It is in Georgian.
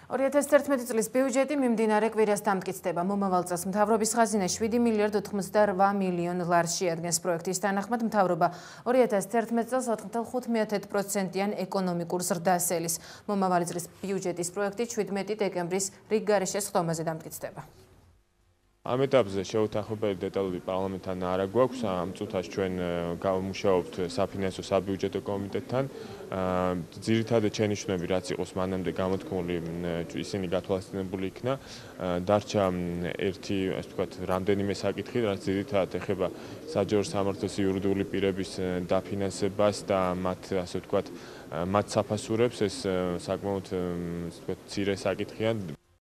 2011 წლის ბიუჯეტი მიმდინარე კვირას დამტკიცდება. მომავალ წელს მთავრობის ხაზინა 7 მილიარდ 88 მილიონ ლარს შეადგენს. პროექტის თანახმად მთავრობა 2011 წელს 4.5%-იან ეკონომიკურ ზრდას ელის. მომავალი წლის ბიუჯეტის პროექტი 17 დეკემბრის რიგგარეშე სხდომაზე დამტკიცდება. ამ ეტაპზე შეუთანხმებელი დეტალური პარლამენტთან არ გვაქვს. ამ წუთას ჩვენ გავმუშაობთ საფინანსო საბიუჯეტო კომიტეტთან. ძირითადად შენიშვნები რაც იყოს მანამდე გამოთქმული, ისინი გათვალისწინებული იქნა. დარჩა ერთი, ასე ვთქვათ, რამდენიმე საკითხი, რაც ძირითადად ეხება საჯარო სამართლის იურიდიული პირების დაფინანსებას და მათ, ასე ვთქვათ, მათ საფასურებს. ეს საკმაოდ, ასე ვთქვათ, მცირე საკითხია.